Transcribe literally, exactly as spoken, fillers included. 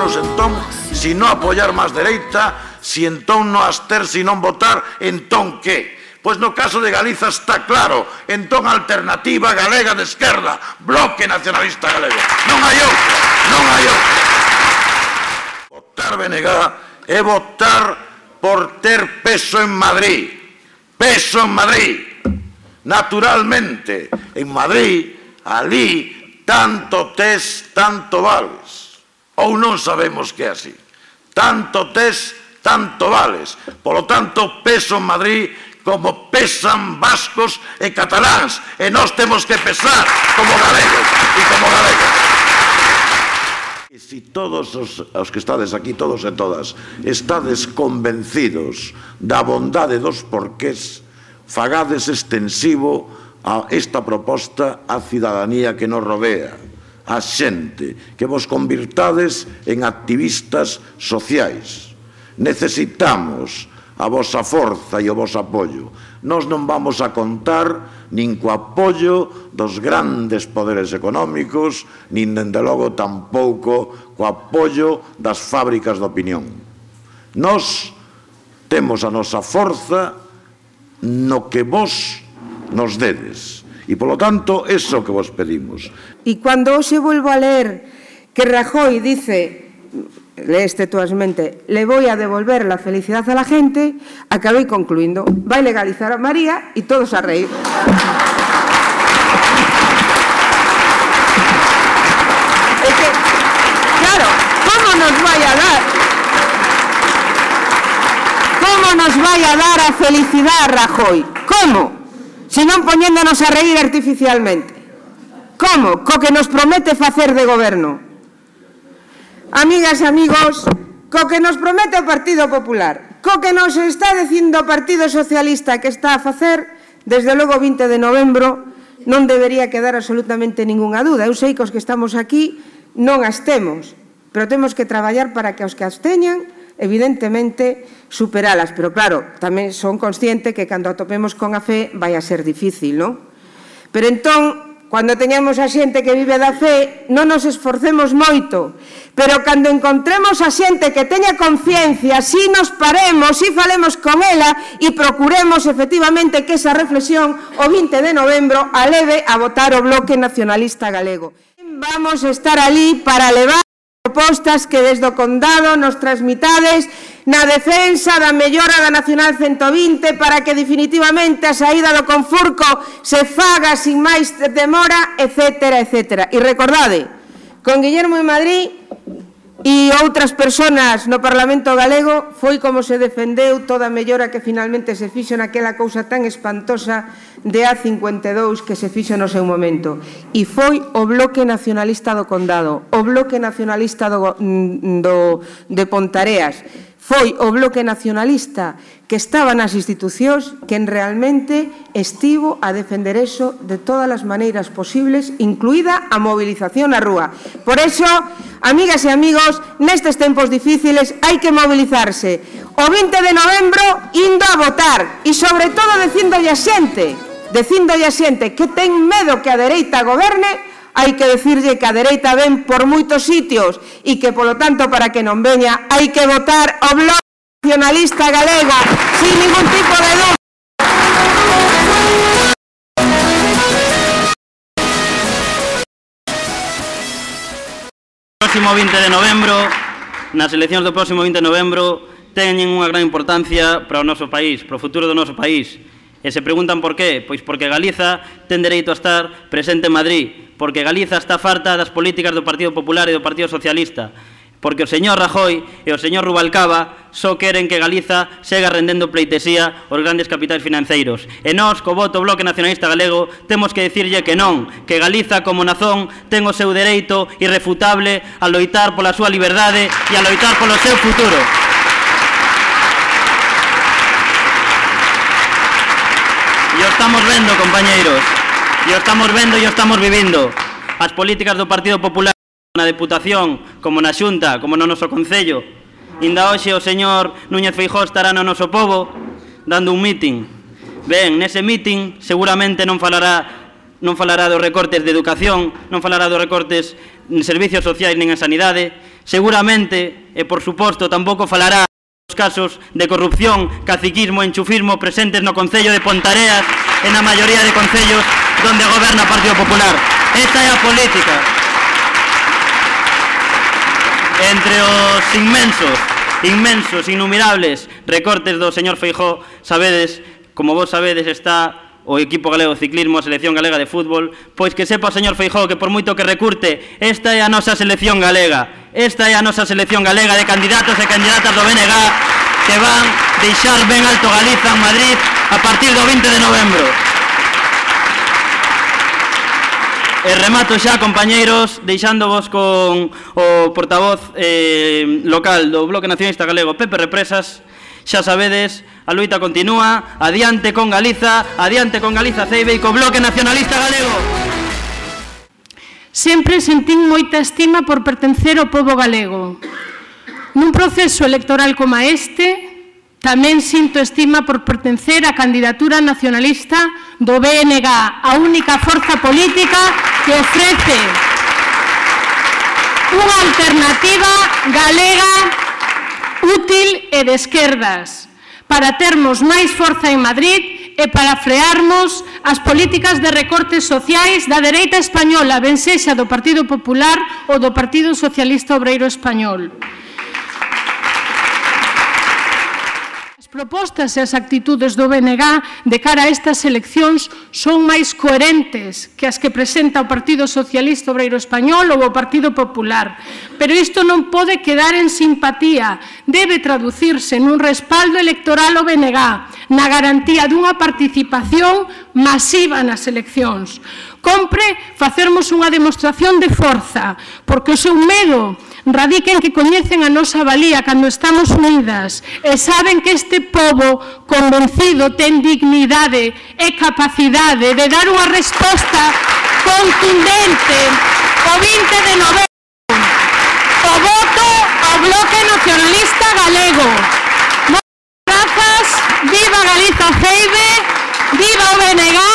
ciudadanos entón, si non apoiar máis dereita, si entón non absterse e non votar, entón que? Pois no caso de Galiza está claro, entón Alternativa Galega de Esquerda, Bloque Nacionalista Galego. Non hai outra, non hai outra. Votar B N G é votar por ter peso en Madrid. Peso en Madrid. Naturalmente, en Madrid, ali, tanto tes, tanto vales. Ou non sabemos que é así. Tanto tes, tanto vales. Polo tanto, peso en Madrid como pesan vascos e cataláns, e nós temos que pesar como galegos e como galegos. E se todos os, os que estades aquí, todos e todas, estades convencidos da bondade dos porqués, fagades extensivo a esta proposta á cidadanía que nos rodea, a xente, que vos convirtades en activistas sociais. Necesitamos a vosa forza e o voso apoio. Nós non vamos a contar nin co apoio dos grandes poderes económicos, nin, dende logo, tampouco co apoio das fábricas de opinión. Nós temos a nosa forza no que vos nos dedes. E, polo tanto, eso que vos pedimos. E cando hoxe volvo a ler que Rajoy dice... lees textualmente, le voy a devolver la felicidad a la gente, acabé concluyendo, va a legalizar a María y todos a reír. Es que, claro, ¿cómo nos vaya a dar? ¿Cómo nos vaya a dar a felicidad Rajoy? ¿Cómo? Si non poñéndonos a reír artificialmente. ¿Cómo? Co que nos promete facer de goberno. Amigas e amigos, co que nos promete o Partido Popular, co que nos está dicindo o Partido Socialista que está a facer, desde logo vinte de novembro, non debería quedar absolutamente ningunha dúda. Eu sei que os que estamos aquí non as temos, pero temos que traballar para que os que as teñan, evidentemente, superalas. Pero claro, tamén son consciente que cando atopemos con a fe vai a ser difícil, non? Pero entón, cando teñamos a xente que vive da fe, non nos esforcemos moito, pero cando encontremos a xente que teña conciencia, si nos paremos, si falemos con ela e procuremos efectivamente que esa reflexión o vinte de novembro a leve a votar o Bloque Nacionalista Galego. Vamos a estar ali para levar propostas que desde o Condado nos transmitades na defensa da mellora da Nacional ciento vinte para que definitivamente a saída do Confurco se faga sin máis demora, etcétera, etcétera. E recordade, con Guillermo en Madrid e outras persoas no Parlamento Galego foi como se defendeu toda a mellora que finalmente se fixo naquela cousa tan espantosa de A cincuenta e dous que se fixo no seu momento. E foi o Bloque Nacionalista do Condado, o Bloque Nacionalista do, do, de Pontareas, foi o Bloque Nacionalista que estaba nas institucións quen realmente estivo a defender eso de todas as maneiras posibles, incluída a movilización na rúa. Por eso, amigas e amigos, nestes tempos difíciles hai que mobilizarse. O vinte de novembro indo a votar e, sobre todo, dicindolle a xente, dicindolle a xente que ten medo que a dereita goberne, hai que decirlle que a dereita ven por moitos sitios e que, polo tanto, para que non veña, hai que votar o Bloque Nacionalista Galego sin ningún tipo de dúda. O próximo vinte de novembro, nas eleccións do próximo vinte de novembro, teñen unha gran importancia para o noso país, para o futuro do noso país. E se preguntan por qué? Pois porque Galiza ten dereito a estar presente en Madrid, porque Galiza está farta das políticas do Partido Popular e do Partido Socialista, porque o señor Rajoy e o señor Rubalcaba só queren que Galiza sega rendendo pleitesía aos grandes capitais financeiros. E nós, co voto Bloque Nacionalista Galego, temos que dicirlle que non, que Galiza como nazón ten o seu dereito irrefutable a loitar pola súa liberdade e a loitar polo seu futuro. E o estamos vendo, compañeiros, e o estamos vendo e o estamos vivindo. As políticas do Partido Popular na Deputación, como na Xunta, como no noso Concello. Inda hoxe o señor Núñez Feijóo estará no noso pobo dando un mitin. Ben, nese mitin seguramente non falará non falará dos recortes de educación, non falará dos recortes en servicios sociais nin en sanidade, Seguramente, e por suposto, tampouco falará dos casos de corrupción, caciquismo e enchufismo presentes no Concello de Pontareas e na maioría de concellos donde goberna o Partido Popular. Esta é a política. Entre os inmensos, inmensos, innumerables recortes do señor Feijóo, sabedes, como vos sabedes, está o equipo galego de ciclismo, a selección galega de fútbol, pois que sepa o señor Feijóo que por moito que recurte, esta é a nosa selección galega, esta é a nosa selección galega de candidatos e candidatas do B N G que van deixar ben alto Galiza en Madrid a partir do vinte de novembro. E remato xa, compañeiros, deixándovos con o portavoz eh, local do Bloque Nacionalista Galego, Pepe Represas. Xa sabedes, a loita continúa, adiante con Galiza, adiante con Galiza Ceibe e co Bloque Nacionalista Galego. Sempre sentín moita estima por pertencer ao pobo galego. Nun proceso electoral como este, tamén sinto estima por pertencer á candidatura nacionalista do B N G, a única forza política que ofrece unha alternativa galega útil e de esquerdas, para termos máis forza en Madrid e para frearmos as políticas de recortes sociais da dereita española, ben sexa do Partido Popular ou do Partido Socialista Obreiro Español. As propostas e as actitudes do B N G de cara a estas eleccións son máis coherentes que as que presenta o Partido Socialista Obreiro Español ou o Partido Popular. Pero isto non pode quedar en simpatía, debe traducirse nun respaldo electoral ao B N G, na garantía dunha participación masiva nas eleccións. Compre facermos unha demostración de forza, porque o seu medo radica en que coñecen a nosa valía cando estamos unidas e saben que este pobo convencido ten dignidade e capacidade de dar unha resposta contundente o vinte de novembro. O voto ao Bloque Nacionalista Galego. Moitas grazas, viva Galiza Ceibe, viva o B N G.